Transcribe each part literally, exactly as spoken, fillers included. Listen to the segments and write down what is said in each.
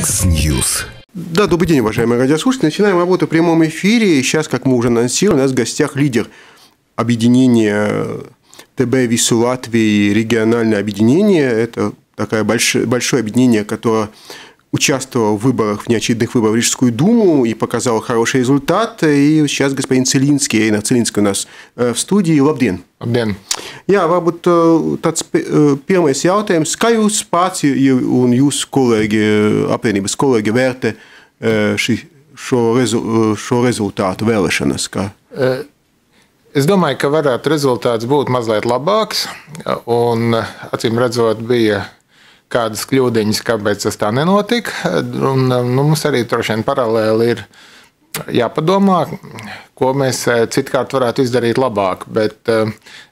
X-News. Да, добрый день, уважаемые радиослушатели. Начинаем работу в прямом эфире. Сейчас, как мы уже анонсировали, у нас в гостях лидер объединения ТБ Вису Латвии, региональное объединение. Это такое большое, большое объединение, которое участвовал в выборах, в неочередных выборах в Рижскую думу и показал хороший результат. И сейчас господин Целинский, Эйна Целинский у нас в студии. Labdien! Labdien! Jā, varbūt tāds pirmais jautājums, kā jūs pats un jūsu kolēģi, apvienības kolēģi vērtē ši, šo, rezu, šo rezultātu vēlēšanas? Kā? Es domāju, ka varētu rezultāts būt mazliet labāks, un acīm redzot bija kādas kļūdiņas, kāpēc tas tā nenotika. Un, nu, mums arī droši vien paralēli ir jāpadomā, ko mēs citkārt varētu izdarīt labāk. Bet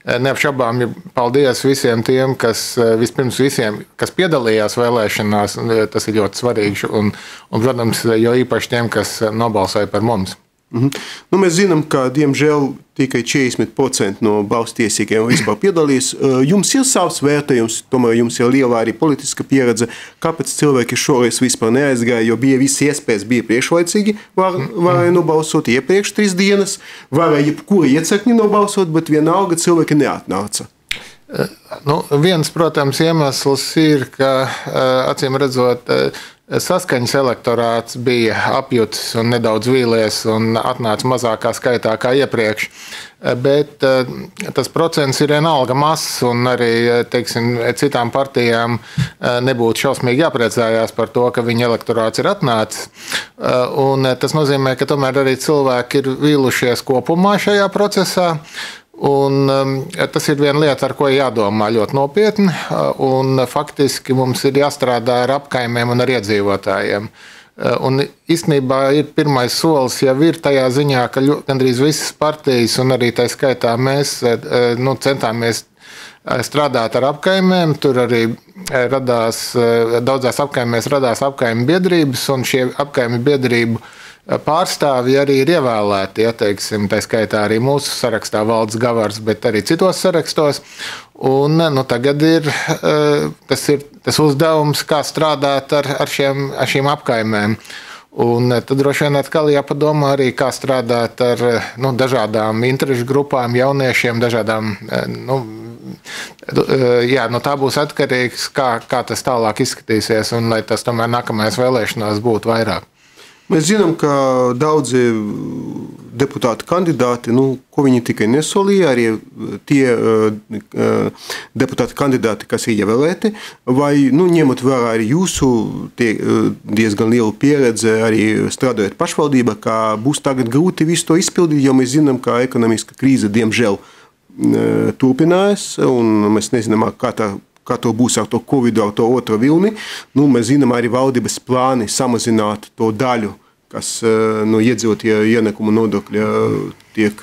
neapšaubām, paldies visiem tiem, kas vispirms visiem, kas piedalījās vēlēšanās, tas ir ļoti svarīgi, un, un protams, jo īpaši tiem, kas nobalsoja par mums. Mm-hmm. Nu, mēs zinām, ka, diemžēl, tikai četrdesmit procenti no balsstiesīgiem vispār piedalīs. Jums ir savs vērtējums, tomēr jums ir liela arī politiska pieredze. Kāpēc cilvēki šoreiz vispār neaizgāja, jo bija visi iespējas, bija priekšlaicīgi, var, varēja nobalsot iepriekš trīs dienas, varēja jebkura iecekņi nobalsot, bet vienalga cilvēki neatnāca. Nu, viens, protams, iemesls ir, ka, acīm redzot, saskaņas elektorāts bija apjutis un nedaudz vīlies un atnāca mazākā skaitā kā iepriekš. Bet tas procents ir vienalga mazs un arī, teiksim, citām partijām nebūtu šausmīgi jāpriecājās par to, ka viņa elektorāts ir atnācis. Un tas nozīmē, ka tomēr arī cilvēki ir vīlušies kopumā šajā procesā. Un, um, tas ir viena lieta, ar ko jādomā ļoti nopietni, un faktiski mums ir jāstrādā ar apkaimēm un ar iedzīvotājiem. Un īstenībā ir pirmais solis jau ir tajā ziņā, ka gandrīz visas partijas un arī tā skaitā mēs nu, centāmies strādāt ar apkaimēm. Tur arī radās, daudzās apkaimēs radās apkaimi biedrības, un šie apkaimi biedrību pārstāvji arī ir ievēlēti, ja, teiksim, tā skaitā arī mūsu sarakstā Valdes Gavars, bet arī citos sarakstos. Un nu, tagad ir tas, ir tas uzdevums, kā strādāt ar, ar, šiem, ar šīm apkaimēm. Un tad droši vien atkal jāpadomā arī, kā strādāt ar nu, dažādām interešu grupām, jauniešiem, dažādām, nu, jā, no tā būs atkarīgs, kā, kā tas tālāk izskatīsies, un lai tas tomēr nākamajās vēlēšanās būtu vairāk. Mēs zinām, ka daudzi deputāti kandidāti, nu, ko viņi tikai nesolīja, arī tie uh, deputāti kandidāti, kas ir ievēlēti, vai, nu, ņemot vērā arī jūsu tie, uh, diezgan lielu pieredzi, arī strādājot pašvaldībā, ka būs tagad grūti visu to izpildīt, jo mēs zinām, ka ekonomiska krīze, diemžēl, uh, turpinās, un mēs nezinām, kā tā kā to būs ar to Covidu, ar to otro vilni. Nu, mēs zinām arī valdības plāni samazināt to daļu, kas no iedzīvotāju ienākumu nodokļa tiek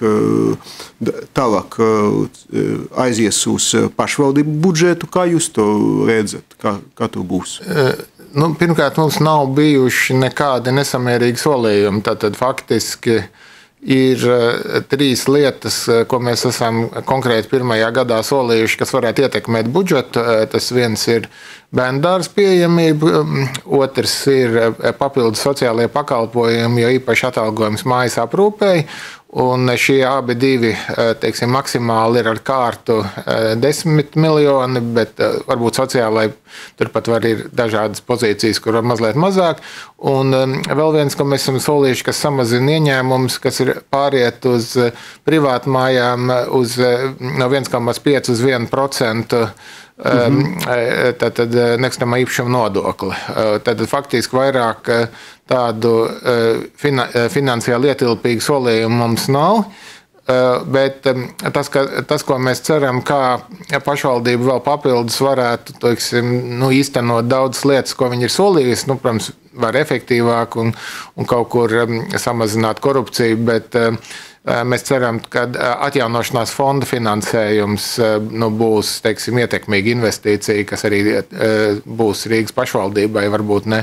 tālāk aizies uz pašvaldību budžetu. Kā jūs to redzat? Kā, kā to būs? Nu, pirmkārt, mums nav bijuši nekādi nesamērīgi solījumi. Tātad faktiski ir trīs lietas, ko mēs esam konkrēti pirmajā gadā solījuši, kas varētu ietekmēt budžetu. Tas viens ir bērndārza pieejamība, otrs ir papildus sociālie pakalpojumi, jo īpaši atalgojums mājas aprūpēji. Un šie abi divi, teiksim, maksimāli ir ar kārtu desmit miljoni, bet varbūt sociālai turpat var ir dažādas pozīcijas, kur var mazliet mazāk. Un vēl viens, ko mēs esam solījuši, kas samazina ieņēmumus, kas ir pāriet uz privātmājām uz no viens komats pieci uz vienu procentu. Mm-hmm. Tātad nekustamā īpašuma nodokli. Tad faktiski vairāk tādu finansiāli ietilpīgu solījumu mums nav, bet tas, ka, tas, ko mēs ceram, kā pašvaldība vēl papildus varētu, teiksim, nu, īstenot daudzas lietas, ko viņi ir solījusi, nu, protams, var efektīvāk un, un kaut kur samazināt korupciju, bet mēs ceram, ka atjaunošanās fonda finansējums nu, būs, teiksim, ietekmīga investīcija, kas arī būs Rīgas pašvaldībai, varbūt ne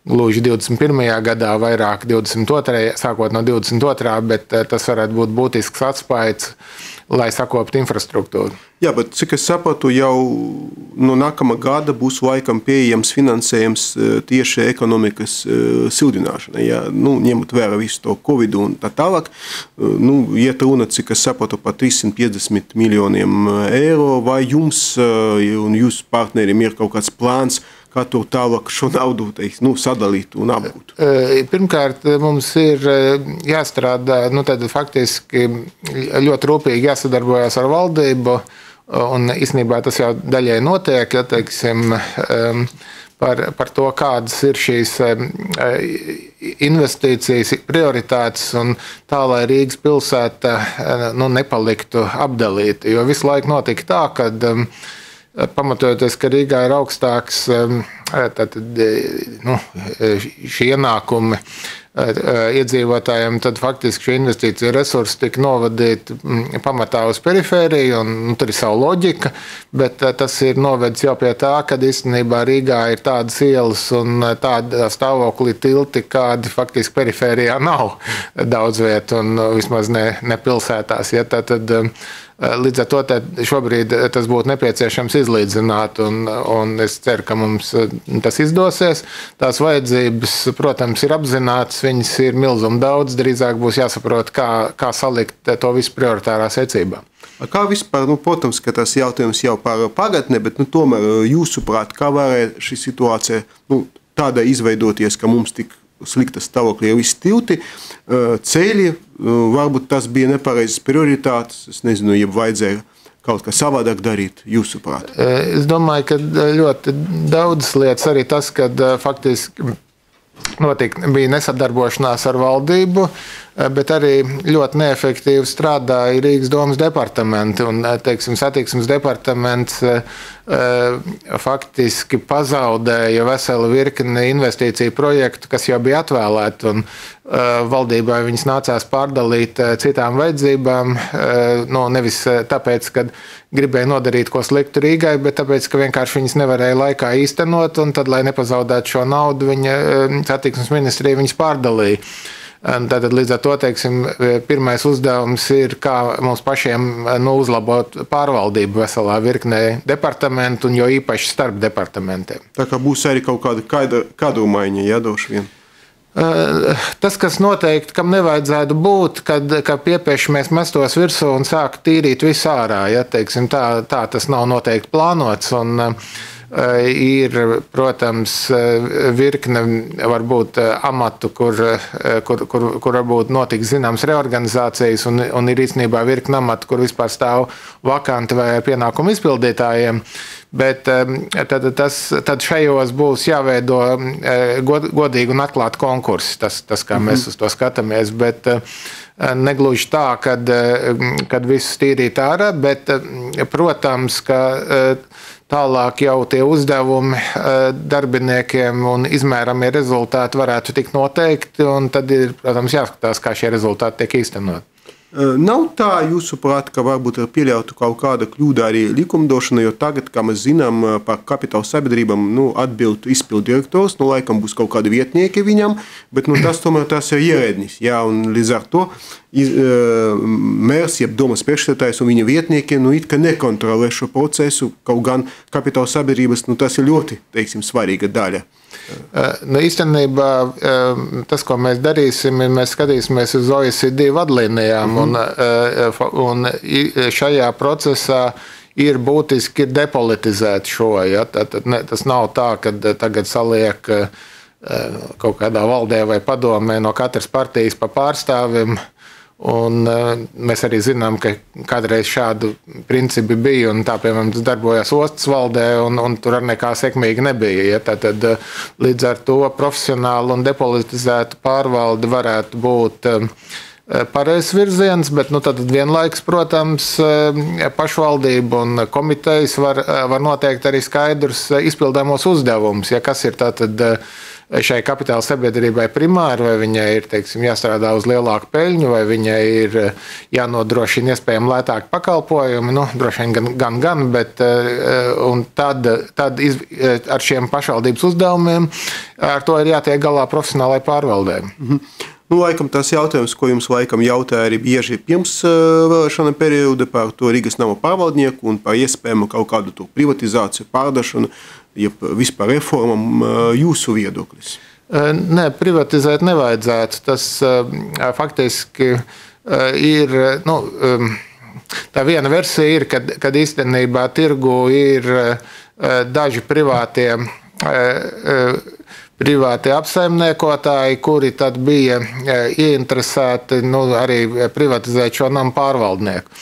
gluži divdesmit pirmajā gadā, vairāk divdesmit otrajā, sākot no divdesmit otrā, bet tas varētu būt būtisks atspaids lai sakoptu infrastruktūru. Jā, bet cik es sapratu, jau no nākamā gada būs laikam pieejams finansējums tieši ekonomikas sildināšanai, ja, nu, ņemot vērā visu to Covid un tā tālāk. Nu, iet runa, cik es sapratu, par trīssimt piecdesmit miljoniem eiro, vai jums un jūsu partneriem ir kaut kāds plāns, kā to tālāk šo naudu teiks, nu, sadalīt un apgūt? Pirmkārt, mums ir jāstrādā, nu, tad faktiski ļoti rūpīgi jāsadarbojas ar valdību, un īstenībā tas jau daļai notiek, ja, teiksim, par, par to, kādas ir šīs investīcijas, prioritātes, un tā, lai Rīgas pilsēta, nu, nepaliktu apdalīta, jo visu laiku notika tā, kad pamatojoties, ka Rīgā ir augstāks tātad, nu, šie ienākumi iedzīvotājiem, tad faktiski šie investīcija resursi tika novadīti pamatā uz perifēriju, un nu, tur ir savu loģika, bet tas ir novedis jau pie tā, ka īstenībā Rīgā ir tādas ielas un tāda stāvoklī tilti, kādi faktiski perifērijā nav daudz vietu, un vismaz ne, ne pilsētās. Ja, tad, līdz ar to šobrīd tas būtu nepieciešams izlīdzināt, un, un es ceru, ka mums tas izdosies. Tās vajadzības, protams, ir apzinātas, viņas ir milzuma daudz, drīzāk būs jāsaprot, kā, kā salikt to visu prioritārā secībā. Kā vispār, nu, protams, ka tas jautājums jau par pagatni, bet nu, tomēr jūsuprāt, kā varēja šī situācija nu, tāda izveidoties, ka mums tik slikta stāvoklī jau visi tilti, ceļi, varbūt tas bija nepareizas prioritātes, es nezinu, ja vajadzēja kaut kā savādāk darīt, jūsuprāt? Es domāju, ka ļoti daudzas lietas, arī tas, kad faktiski notika, bija nesadarbošanās ar valdību, bet arī ļoti neefektīvi strādāja Rīgas domas departamenti, un, teiksim, satiksmes departaments faktiski pazaudēja veselu virkni investīciju projektu, kas jau bija atvēlēti, un valdībai viņas nācās pārdalīt citām vajadzībām, nu, nevis tāpēc, ka gribēja nodarīt ko sliktu Rīgai, bet tāpēc, ka vienkārši viņas nevarēja laikā īstenot, un tad, lai nepazaudētu šo naudu, viņa satiksmes ministrija viņas pārdalīja. Tātad līdz ar to, teiksim, pirmais uzdevums ir, kā mums pašiem nu, uzlabot pārvaldību veselā virknē departamentu, un jo īpaši starp departamentiem. Tā kā būs arī kaut kāda kadru maiņa, ja, droši vien? Tas, kas noteikti, kam nevajadzētu būt, kad, kad piepieši mēs mestos virsū un sāk tīrīt visu ārā, ja, teiksim, tā, tā tas nav noteikti plānots, un ir, protams, virkne varbūt amatu, kur, kur, kur, kur varbūt notiks zināms reorganizācijas, un, un ir īstenībā virkne amatu, kur vispār stāv vakanti vai pienākumu izpildītājiem. Bet tad, tas, tad šajos būs jāveido god, godīgi un atklāti konkursi, tas, tas kā mēs uz to skatāmies, bet negluži tā, kad, kad visus tīrīt ārā, bet, protams, ka tālāk jau tie uzdevumi darbiniekiem un izmēramie rezultāti varētu tikt noteikti, un tad ir, protams, jāskatās, kā šie rezultāti tiek īstenot. Nav tā, jūsuprāt, ka varbūt ir pieļautu kaut kāda kļūda arī likumdošana, jo tagad, kā mēs zinām, par kapitāla sabiedrībām nu, atbild izpildu direktors, nu, laikam būs kaut kādi vietnieki viņam, bet nu, tas tomēr tas ir ierēdnis, jā, un līdz ar to iz, mērs, jeb domas priekšsēdētājs un viņa vietnieki, nu, it kā nekontrolē šo procesu, kaut gan kapitāla sabiedrības, nu, tas ir ļoti, teiksim, svarīga daļa. Nu, īstenībā tas, ko mēs darīsim, ir mēs skatīsimies uz O E C D vadlīnijām, mm-hmm. un, un šajā procesā ir būtiski depolitizēt šo. Ja? Tātad ne, tas nav tā, ka tagad saliek kaut kādā valdē vai padomē no katras partijas pa pārstāvim. Un mēs arī zinām, ka kādreiz šādu principi bija, un tā, piemēram, tas darbojās ostas valdē, un, un tur ar nekā sekmīgi nebija. Ja? Tātad līdz ar to profesionālu un depolitizētu pārvaldi varētu būt pareizs virziens, bet nu, tad vienlaikus, protams, pašvaldība un komitejas var, var noteikt arī skaidrus izpildāmos uzdevumus, ja kas ir tātad šai kapitāla sabiedrībai primāri, vai viņai ir, teiksim, jāstrādā uz lielāku peļņu, vai viņai ir jānodrošina iespējami lētāki pakalpojumi, nu, droši vien gan, gan, gan, bet un tad, tad iz, ar šiem pašvaldības uzdevumiem ar to ir jātiek galā profesionālai pārvaldē. Mhm. Nu, laikam tas jautājums, ko jums laikam jautāja arī bieži pirms vēlēšana perioda par to Rīgas nama pārvaldnieku un par iespējamu kaut kādu to privatizāciju, pārdašanu, ja vispār reformam jūsu viedoklis. Nē, privatizēt nevajadzētu. Tas faktiski ir, nu, tā viena versija ir, kad, kad īstenībā tirgu ir daži privātie, privātie apsaimniekotāji, kuri tad bija ieinteresēti nu, arī privatizēt šo namu pārvaldnieku.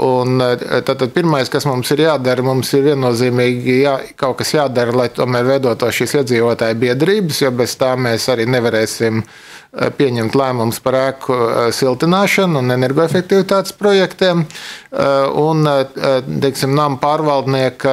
Un tad, tad pirmais, kas mums ir jādara, mums ir viennozīmīgi jā, kaut kas jādara, lai tomēr veidoto šīs iedzīvotāju biedrības, jo bez tā mēs arī nevarēsim pieņemt lēmumus par ēku siltināšanu un energoefektivitātes projektiem. Un, teiksim, nama pārvaldnieka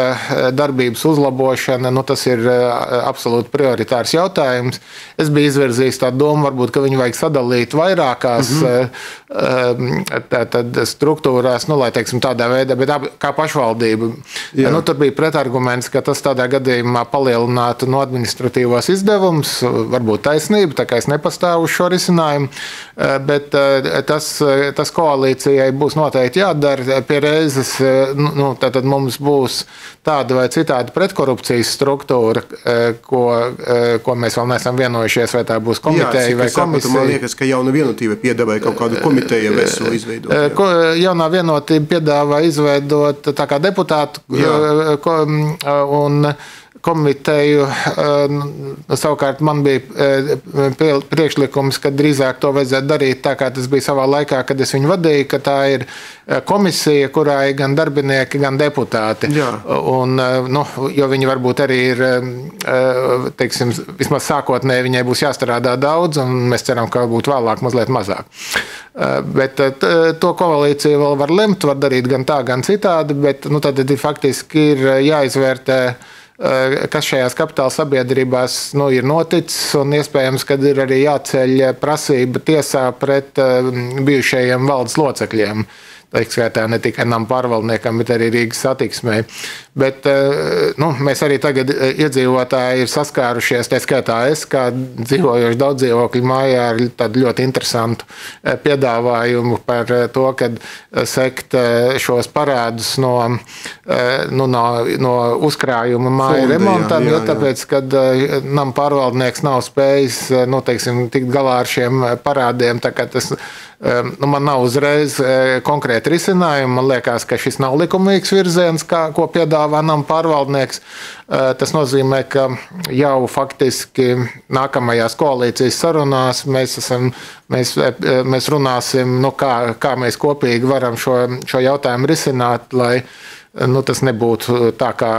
darbības uzlabošana, nu, tas ir absolūti prioritārs jautājums. Es biju izvirzījis tādu domu, varbūt, ka viņu vajag sadalīt vairākās mm-hmm. tā, tad struktūrās, nu, lai, teiksim, tādā veidā, bet kā pašvaldība. Jā. Nu, tur bija pretarguments, ka tas tādā gadījumā palielinātu no administratīvos izdevumus, varbūt taisnība, tā kā es nepastāvu šo risinājumu, bet tas, tas koalīcijai būs noteikti jādara pie reizes, nu, tātad mums būs tāda vai citāda pretkorupcijas struktūra, ko, ko mēs vēl neesam vienojušies, vai tā būs komiteja jā, vai komisija. Man liekas, ka jauna vienotība piedāvāja kaut kādu komiteju veselu izveidot. Jā. Ko, jaunā vienotība piedāvā izveidot tā kā deputātu jā. Ko, un komiteju. Savukārt man bija priekšlikums, ka drīzāk to vajadzētu darīt tā, kā tas bija savā laikā, kad es viņu vadīju, ka tā ir komisija, kurā ir gan darbinieki, gan deputāti. Un, nu, jo viņi varbūt arī ir, teiksim, vismaz sākotnēji viņai būs jāstrādā daudz, un mēs ceram, ka būtu vēlāk mazliet mazāk. Bet to koalīciju vēl var lemt, var darīt gan tā, gan citādi, bet nu, tad faktiski ir jāizvērtē, kas šajās kapitāla sabiedrībās nu, ir noticis, un iespējams, kad ir arī jāceļ prasība tiesā pret bijušajiem valdes locekļiem. Tā skaitā ne tikai nama pārvaldniekam, bet arī Rīgas satiksmei. Bet nu, mēs arī tagad iedzīvotāji ir saskārušies, tā skaitā es, kā dzīvojoši daudz dzīvokļu mājā, ar tādu ļoti interesantu piedāvājumu par to, kad sekt šos parādus no, nu, no, no uzkrājuma māju remontam, jā, jā, jā. Jo tāpēc, kad nama pārvaldnieks nav spējis, nu, teiksim, tikt galā ar šiem parādiem, tā kā tas Nu, man nav uzreiz konkrēti risinājumi. Man liekas, ka šis nav likumīgs virziens, kā, ko piedāvā nama pārvaldnieks. Tas nozīmē, ka jau faktiski nākamajās koalīcijas sarunās mēs, esam, mēs, mēs runāsim, nu, kā, kā mēs kopīgi varam šo, šo jautājumu risināt, lai nu, tas nebūtu tā kā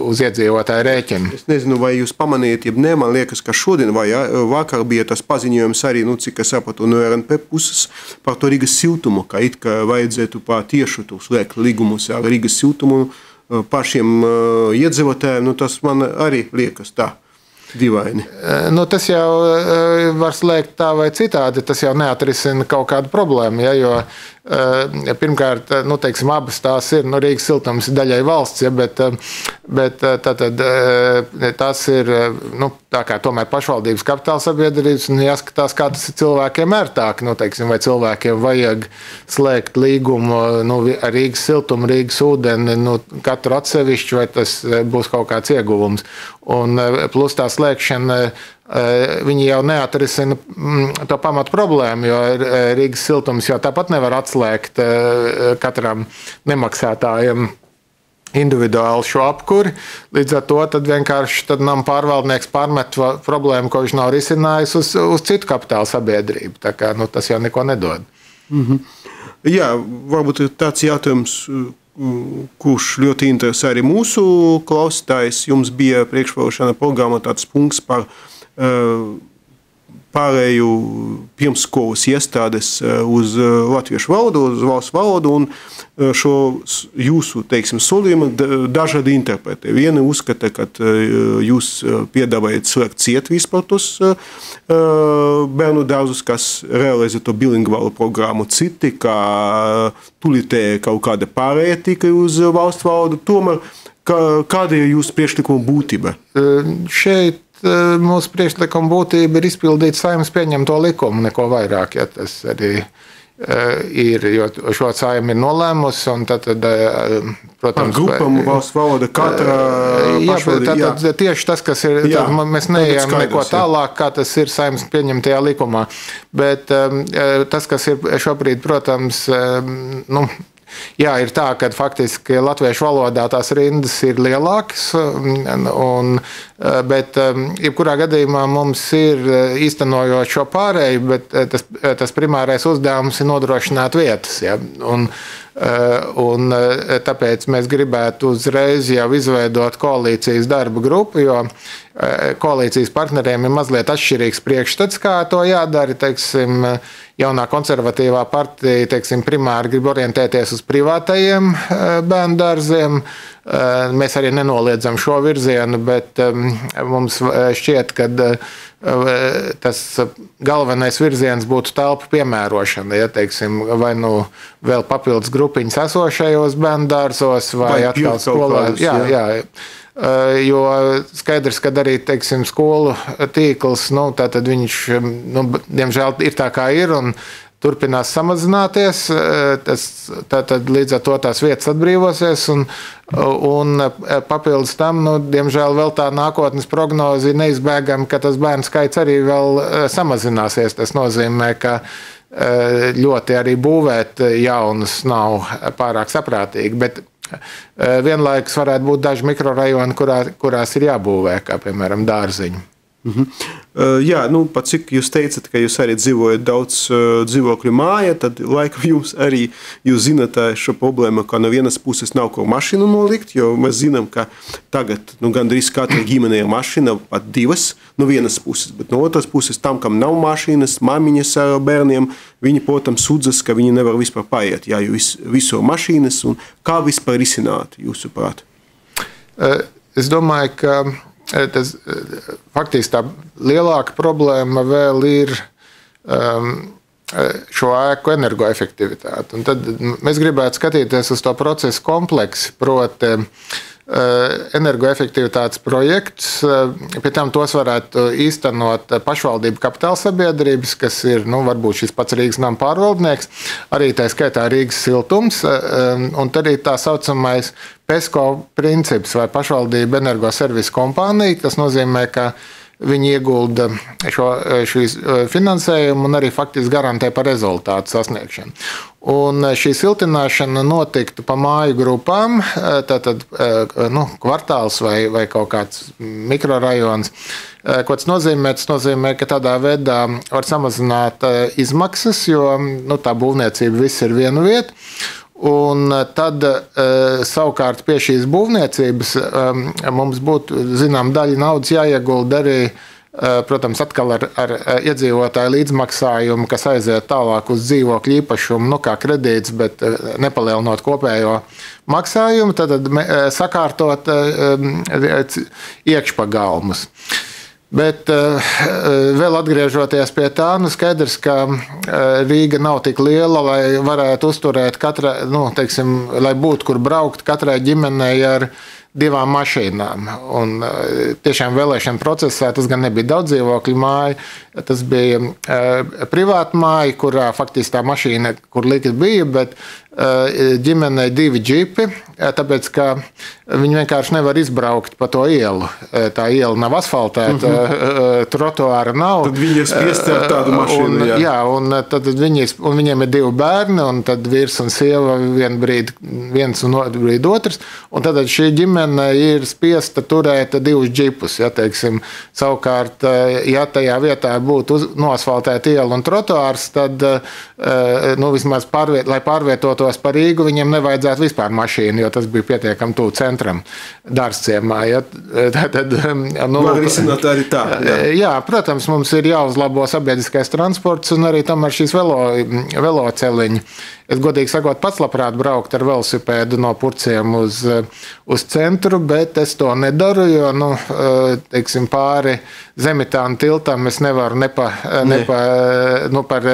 uz iedzīvotāju rēķinu. Es nezinu, vai jūs pamanījat, ja ne, man liekas, ka šodien vai vakar bija tas paziņojums arī, nu, cik es sapratu, no R N P puses par to Rīgas siltumu, ka it kā vajadzētu pa tiešu to slēgt līgumus ar Rīgas siltumu pašiem iedzīvotājiem, nu, tas man arī liekas tā. Divaini. Nu, tas jau var slēgt tā vai citādi, tas jau neatrisina kaut kādu problēmu, ja, jo pirmkārt, nu, teiksim, abas tās ir, nu, Rīgas siltums ir daļai valsts, ja, bet, bet tātad tās ir, nu, tā kā tomēr pašvaldības kapitāla sabiedrības, un jāskatās, kā tas ir cilvēkiem ērtāk, nu, teiksim, vai cilvēkiem vajag slēgt līgumu, nu, ar Rīgas siltumu, Rīgas ūdeni, nu, katru atsevišķu, vai tas būs kaut kāds ieguvums. Un plus tā slēgšana, viņi jau neatrisina to pamatu problēmu, jo Rīgas siltums jau tāpat nevar atslēgt katram nemaksātājam individuāli šo apkuri. Līdz ar to tad vienkārši tad nama pārvaldnieks pārmet problēmu, ko viņš nav risinājis uz, uz citu kapitāla sabiedrību. Tā kā, nu, tas jau neko nedod. Mm-hmm. Jā, varbūt tāds jautājums, kurš ļoti interesē arī mūsu klausītājs. Jums bija priekšvēlēšana programma tāds punkts par uh, pārēju pirmsskolas iestādes uz latviešu valodu, uz valsts valodu, un šo jūsu, teiksim, solījumu dažādi interpretē. Vieni uzskata, ka jūs piedāvājat slēgt ciet vispār tos bērnu dārzus, kas realizē to bilingvālu programmu. Citi, kā tulitēja kaut kāda pārēja tikai uz valsts valodu, tomēr kāda ir jūsu priekšlikuma būtība? Šeit mūsu priekšlikuma būtība ir izpildīt Saeimas pieņemto likumu, neko vairāk, ja tas arī ir, jo šo Saeima ir nolēmusi, un tad, tad protams... Ar grupam, valsts valoda, katra pašvaldība, jā. Tātad tieši tas, kas ir, jā, tad mēs neejam neko tālāk, kā tas ir Saeimas pieņemtajā likumā, bet tas, kas ir šobrīd, protams, nu, jā, ir tā, ka faktiski latviešu valodā tās rindas ir lielākas, un, bet jebkurā gadījumā mums ir īstenojot šo pārēju, bet tas, tas primārais uzdevums ir nodrošināt vietas. Ja? Un, un tāpēc mēs gribētu uzreiz jau izveidot koalīcijas darba grupu, jo koalīcijas partneriem ir mazliet atšķirīgs priekšstats, kā to jādara. Teiksim, jaunā konservatīvā partija teiksim, primāri grib orientēties uz privātajiem bērnu dārziem. Mēs arī nenoliedzam šo virzienu, bet mums šķiet, ka tas galvenais virziens būtu telpu piemērošana, ja, teiksim, vai nu vēl papildus grupiņas esošajos bērnu dārzos, vai, vai atkal skolā. Jā, jā. Jo skaidrs, ka arī, teiksim, skolu tīkls, nu, tātad viņš, nu, diemžēl ir tā kā ir, un turpinās samazināties, tas, tātad līdz ar to tās vietas atbrīvosies, un, un papildus tam, nu, diemžēl vēl tā nākotnes prognozi neizbēgam, ka tas bērnu skaits arī vēl samazināsies. Tas nozīmē, ka ļoti arī būvēt jaunus nav pārāk saprātīgi, bet vienlaikus varētu būt daži mikrorajoni, kurā, kurās ir jābūvē, kā piemēram dārziņi. Mhm. Uh, jā, nu, pat cik jūs teicat, ka jūs arī dzīvojat daudz uh, dzīvokļu māja, tad laikam jums arī, jūs zināt šo problēmu, ka no vienas puses nav ko mašīnu nolikt, jo mēs zinām, ka tagad, nu, gandrīz katra ģimenē ir mašīna, pat divas no vienas puses, bet no otras puses tam, kam nav mašīnas, mamiņas ar bērniem, viņi, protams, sūdzas, ka viņi nevar vispār paiet, jā, jo vis, viso mašīnas, un kā vispār risināt, jūsuprāt? Uh, es domāju, ka Tas, faktiski tā lielāka problēma vēl ir um, šo ēku energoefektivitāti. Un tad mēs gribētu skatīties uz to procesu kompleksi, proti energoefektivitātes projekts. Pie tam tos varētu īstenot pašvaldību kapitāla sabiedrības, kas ir, nu, varbūt šis pats Rīgas nama pārvaldnieks, arī tā skaitā Rīgas siltums, un tad arī tā saucamais PESCO princips vai pašvaldība energoservisu kompānija. Tas nozīmē, ka viņi iegulda šo, šīs finansējumu un arī faktiski garantē par rezultātu sasniegšanu. Un šī siltināšana notiktu pa māju grupām, tātad nu, kvartāls vai, vai kaut kāds mikrorajons. Ko tas nozīmē? Tas nozīmē, ka tādā veidā var samazināt izmaksas, jo nu, tā būvniecība viss ir vienu vietu. Un tad savukārt pie šīs būvniecības mums būtu, zinām, daļa naudas jāiegulda arī, protams, atkal ar, ar iedzīvotāju līdzmaksājumu, kas aiziet tālāk uz dzīvokļu īpašumu, nu kā kredīts, bet nepalielinot kopējo maksājumu, tad sakārtot iekšpagalmus. Bet vēl atgriežoties pie tā, nu skaidrs, ka Rīga nav tik liela, lai varētu uzturēt katra, nu, teiksim, lai būtu kur braukt katrai ģimenei ar divām mašīnām. Un tiešām vēlēšana procesā tas gan nebija daudz dzīvokļu māja, tas bija privāta māja, kurā faktiski tā mašīna, kur likt bija, bet ģimenei divi džipi, tāpēc, ka viņi vienkārši nevar izbraukt pa to ielu. Tā iela nav asfaltēta, mm-hmm. trotuāra nav. Tad viņi ir spiesti ar tādu mašīnu, un, jā. Jā, un, tad viņi, un viņiem ir divi bērni, un tad vīrs un sieva vien brīd, viens un brīd otrs, un tad šī ģimene ir spiesta turēt divus džipus, ja, teiksim. Savukārt, ja tajā vietā būtu uz, noasfaltēta iela un trotuārs, tad, nu, vismaz pārviet, lai pārvietotos par Rīgu, viņiem nevajadzētu vispār mašīnu, jo tas bija pietiekami tuvu centram dārzciemā. Ja? Tad, nu, var risināt arī tā. Jā. jā, protams, mums ir jāuzlabo sabiedriskais transports un arī tomēr šīs velo, veloceliņi. Es godīgi sakot, pats labprāt braukt ar velosipēdu no Purciem uz, uz centru, bet es to nedaru, jo, nu, teiksim, pāri Zemitāna tiltam es nevaru ne pa, ne pa, nu, par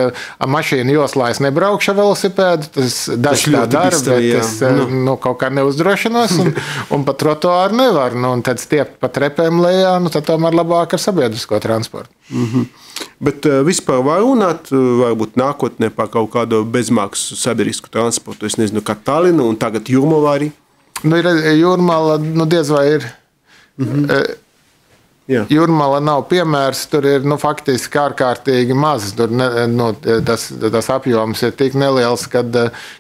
mašīnu joslā es nebraukšu ar velosipēdu, tas daži tā dara, bet es nu. Nu, kaut kā neuzdrošinos un, un pa trotuāru nevaru. Nu, un tad stiept pa trepēm lejā, nu, tad tomēr labāk ar sabiedrisko transportu. Mm-hmm. Bet uh, vispār var runāt, varbūt nākotnē par kaut kādu bezmaksas sabiedrisku transportu. Es nezinu, kā Tallinu un tagad Jūrmala arī. Nu, ir Jūrmala, nu, diez vai ir. Mm-hmm. uh, Jā. Jūrmala nav piemērs, tur ir nu, faktiski ārkārtīgi maz. Tur ne, nu, tas, tas apjoms ir tik neliels, kad,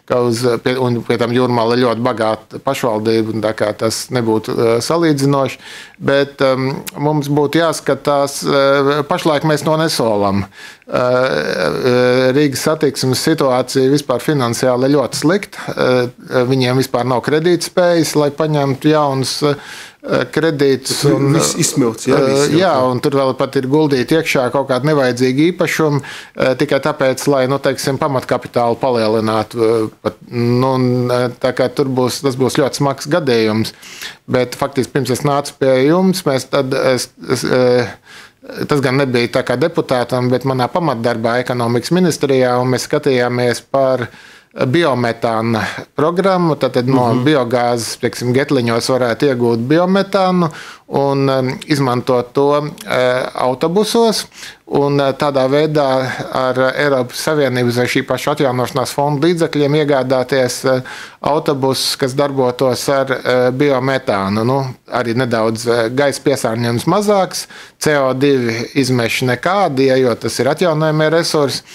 ka uz, pie, un pie tam Jūrmala ir ļoti bagāta pašvaldība, un tā kā tas nebūtu uh, salīdzinoši. Bet um, mums būtu jāskatās, uh, pašlaik mēs to nesolam. Uh, Rīgas satiksmes situācija vispār finansiāli ir ļoti slikta. Uh, viņiem vispār nav kredītspējas, lai paņemtu jaunus uh, kredītus. Un, viss izsmelts, jā, viss jā, un tur vēl pat ir guldīti iekšā kaut kāda nevajadzīga īpašuma, tikai tāpēc, lai, nu, teiksim, pamatkapitālu palielinātu. Nu, tā kā tur būs, tas būs ļoti smags gadījums. Bet faktiski pirms es nācu pie jums, mēs tad, es, es, tas gan nebija tā kā deputātam, bet manā pamatdarbā ekonomikas ministrijā, un mēs skatījāmies par biometāna programmu, tad no mm-hmm. biogāzes, teiksim, getliņos varētu iegūt biometānu un um, izmantot to uh, autobusos. Un uh, tādā veidā ar Eiropas Savienības vai šī paša atjaunošanās fonda līdzekļiem iegādāties uh, autobusus, kas darbotos ar uh, biometānu. Nu, arī nedaudz uh, gaisa piesārņojums mazāks, C O divi izmeši nekādi, ja, jo tas ir atjaunojamie resursi.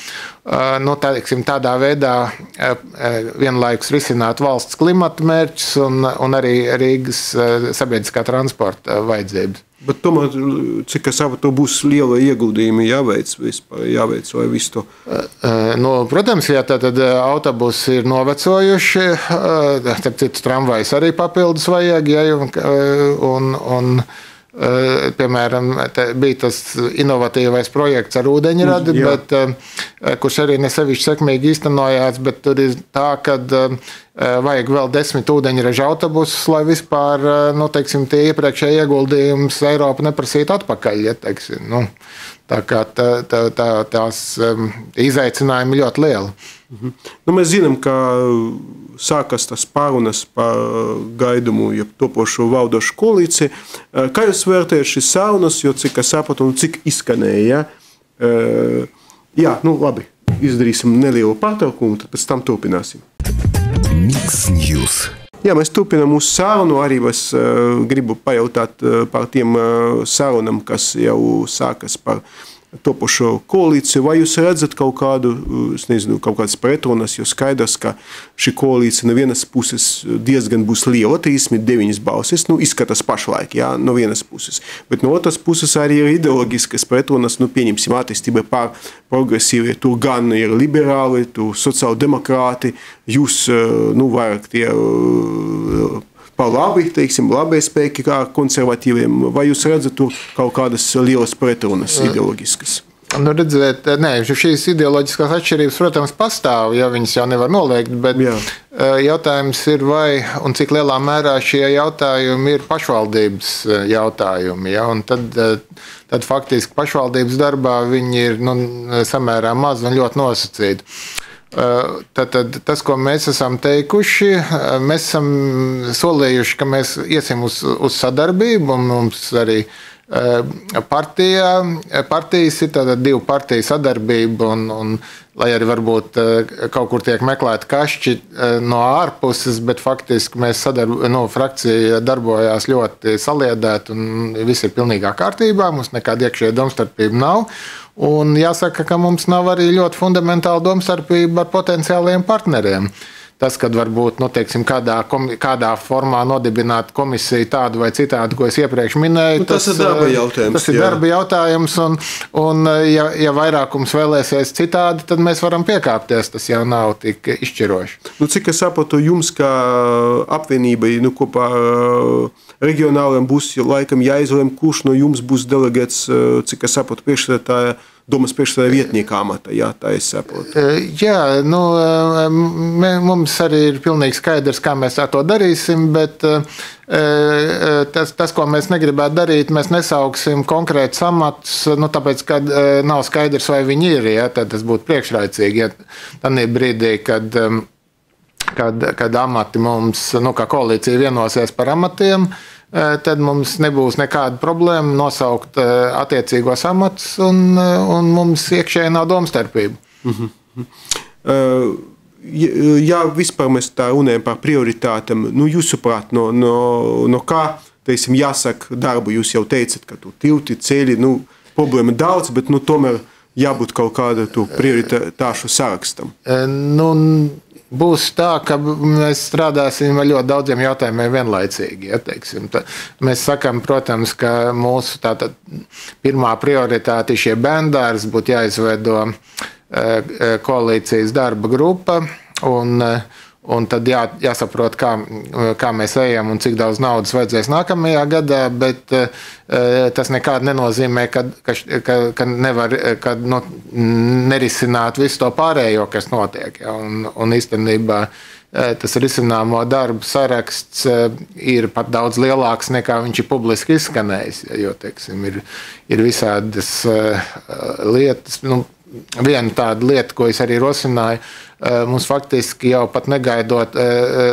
Uh, nu, tā, teiksim, tādā veidā uh, vienlaikus risināt valsts klimata mērķus un, un arī Rīgas uh, sabiedriskā transporta uh, vajadzības. Bet tomēr, cik es saprotu, būs liela ieguldījuma jāveic vispār, jāveic vai visu to? Uh, nu, protams, ja tad autobusi ir novecojuši, uh, tad citu tramvajus arī papildus vajag, ja, un, un, un Uh, piemēram, bija tas inovatīvais projekts ar ūdeņradi, mm, bet, uh, kurš arī nesevišķi sekmīgi īstenojās, bet tur ir tā, ka uh, vajag vēl desmit ūdeņraža autobusus, lai vispār, uh, nu, teiksim, tie iepriekšēji ieguldījums Eiropa neprasītu atpakaļ. Ja, teiksim, nu, tā kā tā, tā, tā, tās um, izaicinājumi ļoti lieli. Mhm. Nu, mēs zinām, ka sākas tas pārunas par gaidumu, ja topošo valdošu koalīciju. Kā jūs vērtējat šīs sarunas, jo cik es sapratu un cik izskanēja? Jā, nu labi, izdarīsim nelielu pārtraukumu, tad pēc tam turpināsim. Mix News. Jā, mēs turpinām mūsu sarunu, arī es uh, gribu pajautāt uh, par tiem uh, sarunam, kas jau sākas par topošo koalīciju. Vai jūs redzat kaut kādu, es nezinu, kaut kādas pretrunas, jo skaidrs, ka šī koalīcija no vienas puses diezgan būs liela, trīsdesmit deviņas balsis, nu, izskatās pašlaik, jā, no vienas puses. Bet no otras puses arī ir ideoloģiskas pretrunas, nu, pieņemsim attīstībai pār progresīvi, tur gan ir liberāli, tur sociāldemokrāti, jūs, nu, vairāk tie par labi, teiksim, labie spēki kā konservatīviem, vai jūs redzat tur kaut kādas lielas pretrunas ideoloģiskas? Nu, redzēt, nē, šīs ideoloģiskās atšķirības, protams, pastāv, ja viņas jau nevar noliegt, bet Jā. jautājums ir, vai un cik lielā mērā šie jautājumi ir pašvaldības jautājumi, ja, un tad, tad faktiski pašvaldības darbā viņi ir, nu, samērā maz un ļoti nosacīti. Tātad tas, ko mēs esam teikuši, mēs esam solījuši, ka mēs iesim uz, uz sadarbību, un mums arī partijā, partijas ir tātad divu partiju sadarbība, un, un lai arī varbūt kaut kur tiek meklēti kašķi no ārpuses, bet faktiski mēs sadarb, nu, frakcija darbojās ļoti saliedēt, un viss ir pilnīgā kārtībā, mums nekāda iekšējā domstarpība nav. Un jāsaka, ka mums nav arī ļoti fundamentāla domstarpība ar potenciāliem partneriem. Tas, kad varbūt, nu, teiksim, kādā, komi, kādā formā nodibināt komisiju tādu vai citādu, ko es iepriekš minēju. Nu, tas, tas ir darba jautājums. Tas ir jā. darba jautājums, un, un ja, ja vairākums vēlēsies citādi, tad mēs varam piekāpties. Tas jau nav tik izšķiroši. Nu, cik es saprotu, jums kā apvienībai, nu, kopā reģionāliem būs laikam jāizlem, kurš no jums būs delegēts, cik es saprotu, priekšsēdētāja, domas priekšsēdētāja vietnieka amata, jā, tā es saprotu. Jā, nu, mums arī ir pilnīgi skaidrs, kā mēs to darīsim, bet tas, tas, ko mēs negribētu darīt, mēs nesauksim konkrētus amatus, nu, tāpēc, ka nav skaidrs, vai viņi ir, ja, tad tas būtu priekšraicīgi, ja tādā brīdī, kad kad, kad amati mums, nu, kā koalīcija vienosies par amatiem, tad mums nebūs nekāda problēma nosaukt attiecīgos amatus, un, un mums iekšēji nav domstarpība. Mm-hmm. uh, ja vispār mēs tā runājam par prioritātēm, nu, jūsuprāt, no, no, no kā, teiksim, jāsaka darbu, jūs jau teicat, ka tu tilti, ceļi, nu, problēma daudz, bet, nu, tomēr jābūt kaut kāda tu prioritāšu sarakstam. Nu, būs tā, ka mēs strādāsim ar ļoti daudziem jautājumiem vienlaicīgi. Ja, teiksim. Mēs sakam, protams, ka mūsu tātad pirmā prioritāte ir šie bērndārs, būtu jāizveido koalīcijas darba grupa, un, un tad jā, jāsaprot, kā, kā mēs ejam un cik daudz naudas vajadzēs nākamajā gadā, bet tas nekādi nenozīmē, ka, ka, ka, ka nevar ka, nu, nerisināt visu to pārējo, kas notiek. Ja? Un, un īstenībā tas risināmo darbu saraksts ir pat daudz lielāks nekā viņš ir publiski izskanējis, jo, teiksim, ir, ir visādas lietas. Nu, viena tāda lieta, ko es arī rosināju, mums faktiski jau pat negaidot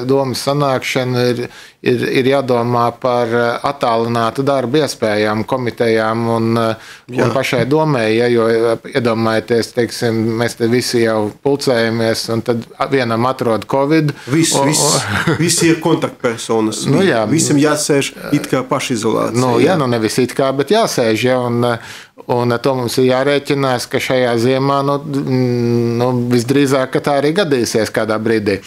domas sanākšanu, ir, ir, ir jādomā par attālinātu darbu iespējām komitejām un, un pašai domai, ja, jo iedomājieties, teiksim, mēs te visi jau pulcējamies un tad vienam atrod Covid. Viss, viss, visi ir kontaktpersonas. Nu, jā, Visam jāsēž it kā pašizolācija. Nu, jā, nu nevis it kā, bet jāsēž, ja, un, un to mums ir jārēķinās, ka šajā ziemā, nu, nu visdrīzāk, ka tā arī gadīsies kādā brīdī.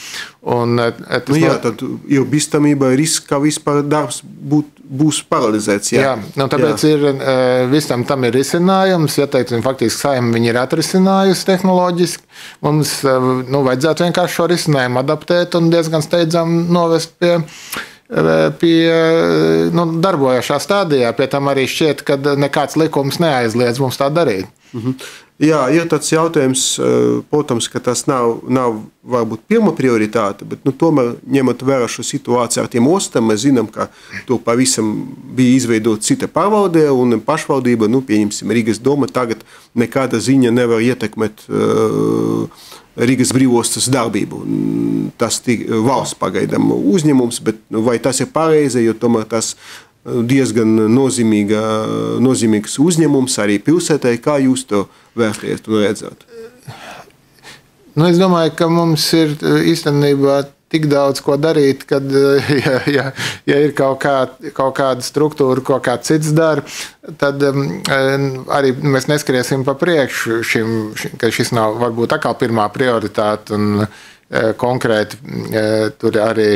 Un, tas nu, jā, tad ir bīstamība, risks, ka vispār darbs būt, būs paralizēts. Jā, jā nu, tāpēc jā. Ir, visam tam ir risinājums. Ja teiksim, faktiski Saeima viņi ir atrisinājusi tehnoloģiski. Mums nu, vajadzētu vienkārši šo risinājumu adaptēt un diezgan steidzam novest pie, pie nu, darbojošā stādijā. Pie tam arī šķiet, ka nekāds likums neaizliedz mums tā darīt. Mhm. Jā, ir tāds jautājums, protams, ka tas nav, nav varbūt pirma prioritāte, bet nu, tomēr ņemot vērā šo situāciju ar tiem ostām, mēs zinām, ka to pavisam bija izveidot cita pārvaldē un pašvaldība, nu, pieņemsim, Rīgas doma tagad nekāda ziņa nevar ietekmēt uh, Rīgas brīvostas darbību. Tas ir valsts pagaidām uzņēmums, bet vai tas ir pareizi, jo tomēr tas diezgan nozīmīga, nozīmīgs uzņēmums arī pilsētai. Kā jūs to vērtējat un redzat? Nu, es domāju, ka mums ir īstenībā tik daudz ko darīt, kad, ja, ja, ja ir kaut, kā, kaut kāda struktūra, ko kāds cits dara, tad um, arī mēs neskriesim pa priekšu šim, ka šis nav varbūt atkal pirmā prioritāte un konkrēti tur arī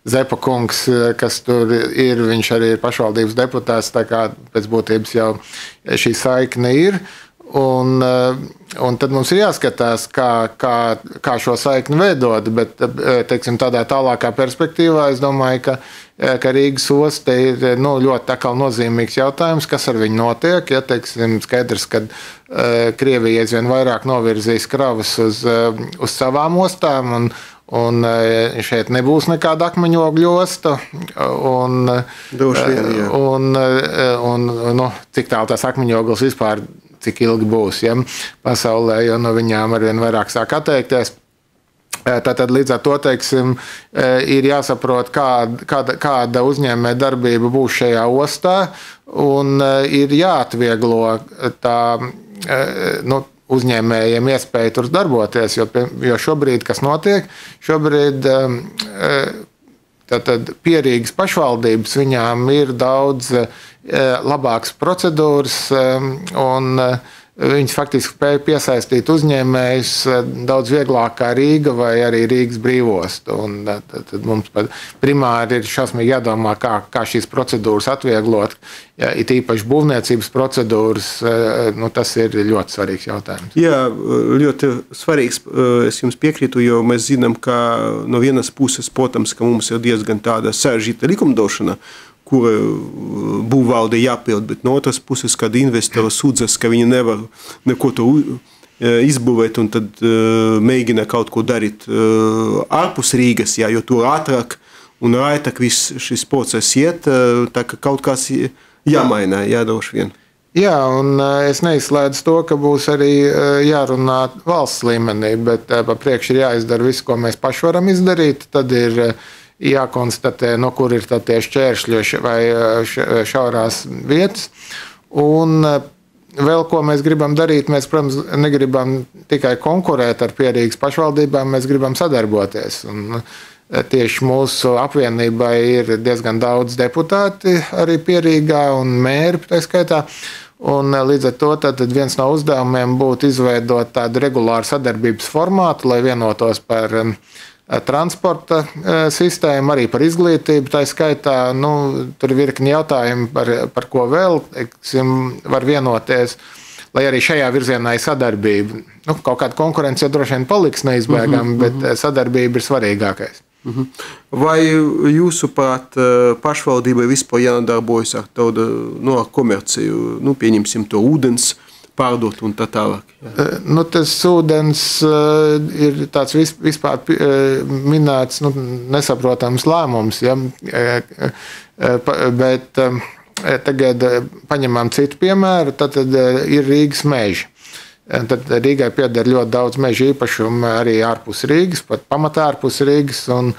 Zepa kungs, kas tur ir, viņš arī ir pašvaldības deputāts, tā kā pēc būtības jau šī saikne ir. Un, un tad mums ir jāskatās, kā, kā, kā šo saikni veidot, bet teiksim, tādā tālākā perspektīvā es domāju, ka, ka Rīgas osta ir nu, ļoti atkal nozīmīgs jautājums, kas ar viņu notiek. Ja, teiksim, skaidrs, ka Krievija aizvien vairāk novirzīs kravas uz, uz savām ostām, un, un šeit nebūs nekāda akmeņogļu osta. Un, vien, un, un, nu, cik tālu tās akmeņogles vispār cik ilgi būs, ja, pasaulē, jo no viņām arvien vairāk sāk atteikties. Tātad līdz ar to, teiksim, ir jāsaprot, kāda, kāda, kāda uzņēmē darbība būs šajā ostā, un ir jāatvieglo tā, nu, uzņēmējiem iespēja tur darboties, jo, jo šobrīd, kas notiek, šobrīd tātad pierīgas pašvaldības, viņām ir daudz labākas procedūras un viņas faktiski spēja piesaistīt uzņēmējus daudz vieglāk kā Rīga vai arī Rīgas brīvosta. Un tad, tad mums primāri ir šausmīgi jādomā, kā, kā šīs procedūras atvieglot. Ja, it īpaši būvniecības procedūras, nu, tas ir ļoti svarīgs jautājums. Jā, ļoti svarīgs. Es jums piekrītu, jo mēs zinām, ka no vienas puses, protams, ka mums ir diezgan tāda sarežģīta likumdošana, kura būvvalde jāpild, bet no otras puses, kad investori sūdzas, ka viņi nevar neko to izbūvēt un tad uh, mēģina kaut ko darīt uh, ārpus Rīgas, jā, jo tur ātrāk un raitāk viss šis process iet, uh, tā ka kaut kas jāmaina, jādoši vien. Jā, un es neizslēdzu to, ka būs arī jārunā valsts līmenī, bet pa priekš ir jāizdara viss, ko mēs paši varam izdarīt. Tad ir jākonstatē, no kur ir tie šķēršļi vai šaurās vietas. Un vēl, ko mēs gribam darīt, mēs, protams, negribam tikai konkurēt ar Pierīgas pašvaldībām, mēs gribam sadarboties. Un tieši mūsu apvienībai ir diezgan daudz deputāti arī Pierīgā un mēri, tā skaitā. Un līdz ar to tad viens no uzdevumiem būtu izveidot tādu regulāru sadarbības formātu, lai vienotos par transporta sistēmu, arī par izglītību. Tā skaitā, nu, tur ir virkni jautājumi, par, par ko vēl, teiksim, var vienoties, lai arī šajā virzienā ir sadarbība. Nu, kaut kāda konkurence jau droši vien paliks neizbēgama, bet sadarbība ir svarīgākais. Vai jūsuprāt pašvaldībai vispār jānodarbojas ar tādu no, komerciju, nu, pieņemsim to ūdens, pārdot un tā tālāk? Nu, tas ūdens ir tāds vispār minēts, nu, nesaprotams lēmums, ja? Bet tagad paņemam citu piemēru, tad ir Rīgas meži. Tad Rīgai pieder ļoti daudz meža īpašumu arī ārpus Rīgas, pat pamatā ārpus Rīgas, un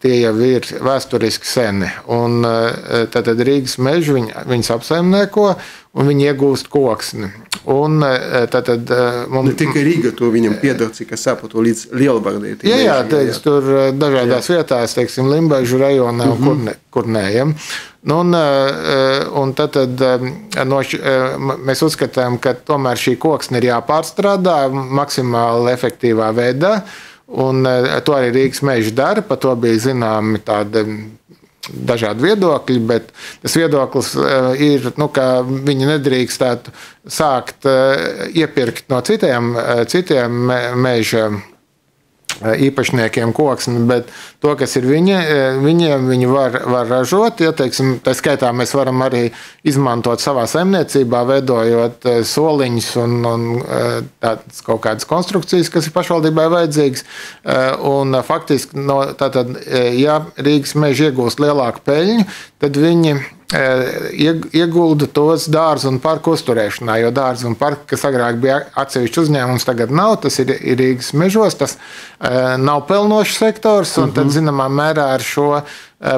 tie jau ir vēsturiski seni. Un tad Rīgas meži viņ, viņus apsaimnieko un viņi iegūst koksni. Un tad, tad mums... Ne tikai Rīga to viņam pieder, cik es saprotu, līdz Lielvardē. Jā, jā, teiks, tur dažādās jā. vietās, teiksim, Limbažu rajonā un kur, ne, kur nē. Ja? Nu, un, un tad, tad no š, mēs uzskatām, ka tomēr šī koksne ir jāpārstrādā maksimāli efektīvā veidā, un to arī Rīgas meži dara, par to bija zināmi tādi dažādi viedokļi, bet tas viedoklis ir, nu, ka viņi nedrīkstētu sākt iepirkt no citiem, citiem meža īpašniekiem koksni, bet to, kas ir viņi, viņiem, viņi var, var ražot. Ja, teiksim, tā skaitā mēs varam arī izmantot savā saimniecībā, veidojot soliņus un, un tādas kaut kādas konstrukcijas, kas ir pašvaldībai vajadzīgas. Un faktiski, no, tātad, ja Rīgas meži iegūst lielāku peļņu, tad viņi iegulda tos dārzu un parku uzturēšanā, jo dārzu un parku, kas agrāk bija atsevišķi uzņēmums, tagad nav, tas ir Rīgas mežos, tas nav pelnošs sektors, un tad, zināmā mērā, ar šo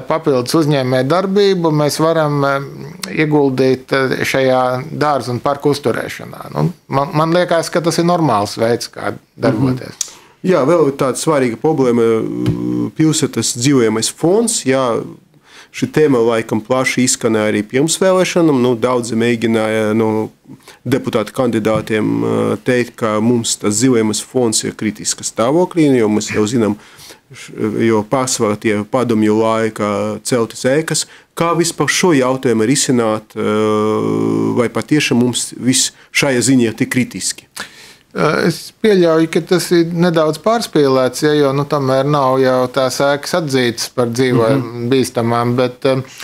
papildus uzņēmēju darbību mēs varam ieguldīt šajā dārzu un parku uzturēšanā. Nu, man, man liekas, ka tas ir normāls veids, kā darboties. Mm-hmm. Jā, vēl ir tāda svarīga problēma pilsētas dzīvojamais fonds, jā, šī tēma laikam plaši izskanēja arī pirms vēlēšanām. Nu, daudzi mēģināja no deputātu kandidātiem teikt, ka mums tas dzīvojamais fonds ir kritiska stāvoklī, jo mēs jau zinām, jo pārsvarā tie padomju laika celtas ēkas. Kā vispār šo jautājumu risināt, vai patiešām mums viss šajā ziņā ir tik kritiski? Es pieļauju, ka tas ir nedaudz pārspīlēts, ja, jo nu, tomēr nav jau tās ēkas atzītas par dzīvojumu mm-hmm. bīstamām, bet uh,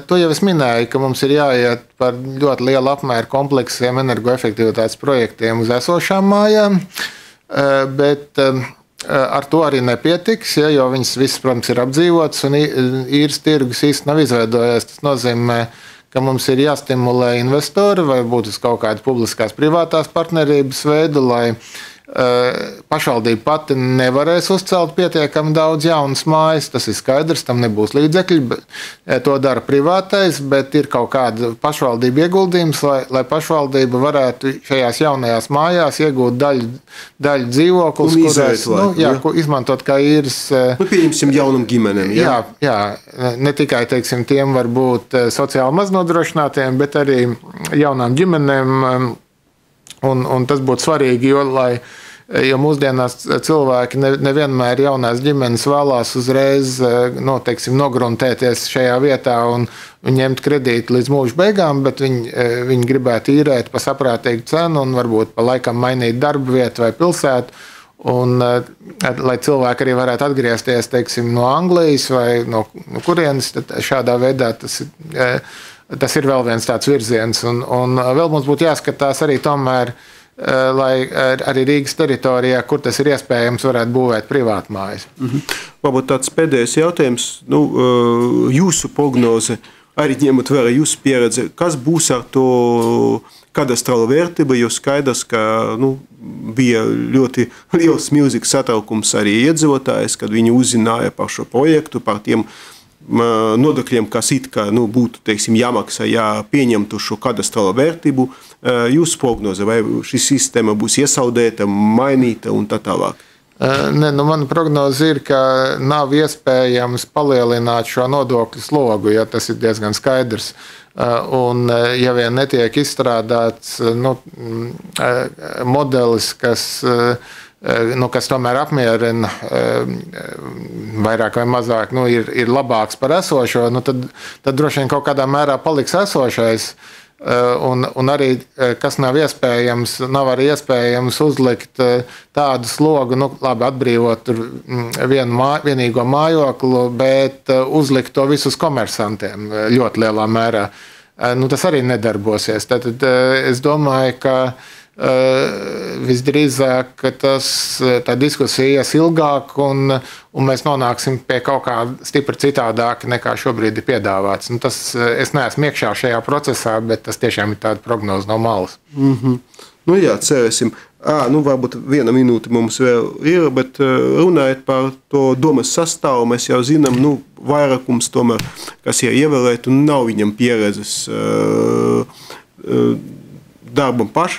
to jau es minēju, ka mums ir jāiet par ļoti lielu apmēru kompleksiem energoefektivitātes projektiem uz esošām mājām, uh, bet uh, ar to arī nepietiks, ja, jo viņas visas, protams, ir apdzīvotas un īres tirgus īsti nav izveidojies. Tas nozīmē, ka mums ir jāstimulē investori vai būt uz kaut kādas publiskās privātās partnerības veidu, lai uh, pašvaldība pati nevarēs uzcelt pietiekami daudz jaunas mājas. Tas ir skaidrs, tam nebūs līdzekļi, bet, to dara privātais, bet ir kaut kāda pašvaldība ieguldījums, lai, lai pašvaldība varētu šajās jaunajās mājās iegūt daļu, daļu dzīvokļus, kurās nu, jā, ja. izmantot kā īres. Nu, pieņemsim jaunam ģimenēm. Jā, jā, jā, ne tikai, teiksim, tiem var būt sociāli maznodrošinātiem, bet arī jaunām ģimenēm. Un, un tas būtu svarīgi, jo, lai, jo mūsdienās cilvēki ne, nevienmēr jaunās ģimenes vēlās uzreiz no, teiksim, nogruntēties šajā vietā un, un ņemt kredītu līdz mūža beigām, bet viņi, viņi gribētu īrēt pa saprātīgu cenu un varbūt pa laikam mainīt darba vietu vai pilsētu. Un, lai cilvēki arī varētu atgriezties, teiksim, no Anglijas vai no, no kurienes, tad šādā veidā tas ir. Tas ir vēl viens tāds virziens, un, un vēl mums būtu jāskatās arī tomēr, lai arī Rīgas teritorijā, kur tas ir iespējams, varētu būvēt privātmājas. Mm-hmm. Varbūt tāds pēdējais jautājums, nu, jūsu prognoze arī ņemot vērā jūsu pieredzi, kas būs ar to kadastrālo vērtību, jo skaidrs, ka nu, bija ļoti liels milzīgs satraukums arī iedzīvotājs, kad viņi uzzināja par šo projektu, par tiem nodokļiem, kas it kā nu, būtu teiksim, jāmaksā, ja pieņemtu šo kadastrālo vērtību. Jūsu prognoze, vai šī sistēma būs iesaudēta, mainīta un tā tālāk? Ne, nu, mana prognoze ir, ka nav iespējams palielināt šo nodokļu slogu, ja tas ir diezgan skaidrs. Un, ja vien netiek izstrādāts nu, modelis, kas, nu, kas tomēr apmierina vairāk vai mazāk, nu, ir, ir labāks par esošo, nu, tad, tad droši vien kaut kādā mērā paliks esošais. Un, un arī, kas nav iespējams, nav arī iespējams uzlikt tādu slogu, nu, labi, atbrīvot vienu mā, vienīgo mājoklu, bet uzlikt to visus komersantiem ļoti lielā mērā. Nu, tas arī nedarbosies. Tad es domāju, ka visdrīzāk, ka tas, tā diskusija ies ilgāk un, un mēs nonāksim pie kaut kā stipri citādāka nekā šobrīd ir piedāvāts. Nu, tas, es neesmu iekšā šajā procesā, bet tas tiešām ir tāda prognoze no malas. Mm-hmm. Nu jā, cerēsim. À, nu varbūt viena minūte mums vēl ir, bet runājot par to domas sastāvu, mēs jau zinām, nu, vairākums tomēr, kas ir ievēlēt un nav viņam pieredzes uh, uh, Darbam, paš,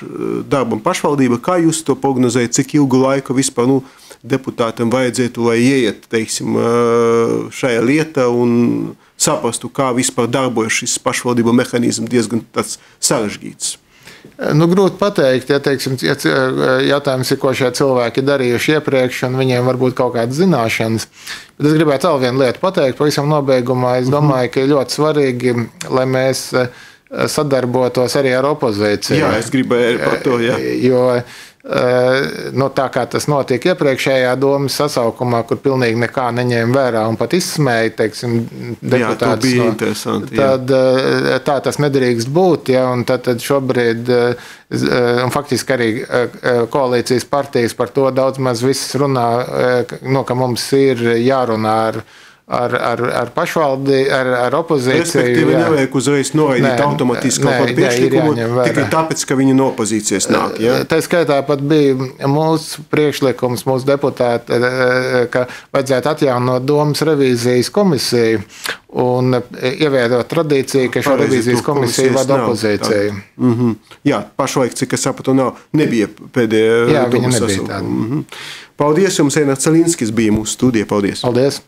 darbam pašvaldība, kā jūs to prognozējat, cik ilgu laiku vispār nu, deputātam vajadzētu, lai ieiet teiksim, šajā lietā un saprastu, kā vispār darbojas šis pašvaldību mehānisms diezgan tāds sarežģīts? Nu, grūti pateikt, ja teiksim, jautājums ir, ko šie cilvēki darījuši iepriekš, un viņiem varbūt kaut kādas zināšanas. Bet es gribētu vēl vienu lietu pateikt, pavisam nobeigumā. Es domāju, ka ir ļoti svarīgi, lai mēs sadarbotos arī ar opozīciju. Jā, es gribēju par to, jā. Jo nu, tā kā tas notika iepriekšējā domas sasaukumā, kur pilnīgi nekā neņēma vērā un pat izsmēja, teiksim, deputātus. Jā, to bija interesanti. Tad jā. Tā tas nedrīkst būt, ja, un tad, tad šobrīd, un faktiski arī koalīcijas partijas par to daudz maz viss runā, nu, ka mums ir jārunā ar Ar, ar, ar pašvaldi, ar, ar opozīciju. Respektīvi, jā. Nevajag uzreiz noraidīt automatiski kaut kādu priekšlikumu, tikai tāpēc, ka viņi no opozīcijas nāk. Ja? Tā skaitā pat bija mūsu priekšlikums, mūsu deputāti, ka vajadzētu atjaunot domas revīzijas komisiju un ieviedot tradīciju, ka šo revīzijas komisiju vada opozīcija. Mm-hmm. Jā, pašlaik, cik es sapratu, nav, nebija pēdējā jā, viņa domas nebija tāda. Mm-hmm. Paldies jums, Einars Celinskis bija mūsu studija. Paldies. Paldies.